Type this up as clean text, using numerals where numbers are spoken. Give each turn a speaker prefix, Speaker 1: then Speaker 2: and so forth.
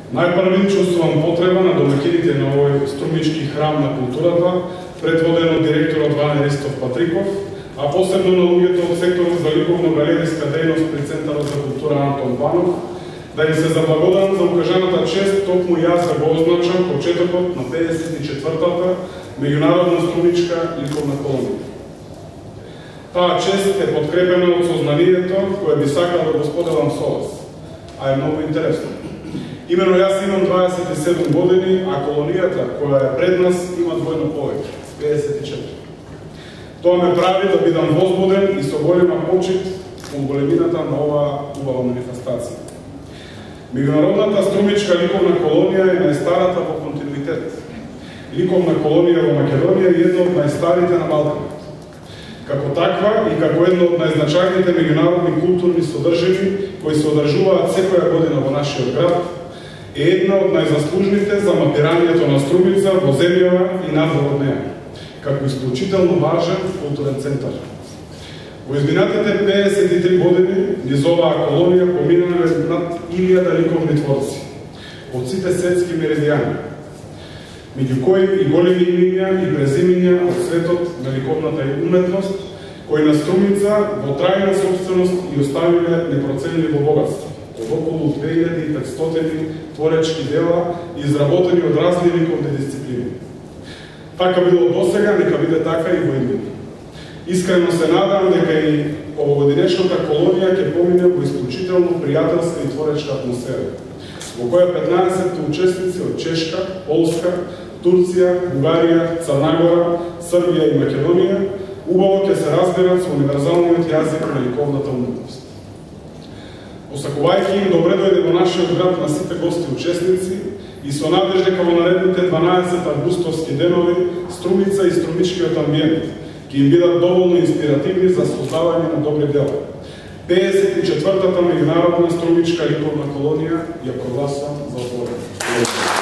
Speaker 1: Најпрви чувствувам потреба на домаќините на овој струмички храм на културата, предводен од директорот Ване Ристов Патриков, а посебно на луѓето од секторот за ликовно-галериска дејност при Центарот за култура Антон Банов, да им се заблагодарам за укажаната чест, токму јас да го означам почетокот на 54-та меѓународна струмичка ликовна колонија. Таа чест е подкрепена од сознанието кое би сакал да го споделам со вас, а е многу интересно. Имено јас имам 27 години, а колонијата која е пред нас има двојно повеќе, 54. Тоа ме прави да бидам возбуден и со голема почит кон големината на оваа убава манифестација. Меѓународната струмичка ликовна колонија е најстарата во континуитет. Ликовна колонија во Македонија е една од најстарите на Балканот. Како таква и како една од најзначајните меѓународни културни содржини кои се одржуваат секоја година во нашиот град, е една од најзаслужните за мапирањето на Струмица во земјава и надвор од неа, како исклучително важен културен центар. Во изминатите 53 години низ оваа колонија поминале над 1000 ликовни творци од сите светски меридијани, меѓу кои и големи имиња и презимиња од светот на ликовната уметност, кои на Струмица во трајна собственост и оставиле непроценливо богатство од околу 2500 творечки дела изработени од разни ликовни дисциплини. Така било досега, нека биде така и во иднина. Искрено се надам дека и овогодинешната колонија ќе помине во исклучително пријателска и творечка атмосфера, во која 15 учесници од Чешка, Полска, Турција, Бугарија, Црна Гора, Србија и Македонија убаво ќе се разберат со универзалниот јазик на ликовната уметност. Посакувајќи им добре дојде во нашиот град на сите гости учесници и со надеж дека во наредните 12 августовски денови Струмица и струмичкиот амбиент ќе им бидат доволно инспиративни за создавање на добри дела. 54-та меѓународна струмичка ликовна колонија ја прогласувам за отворена.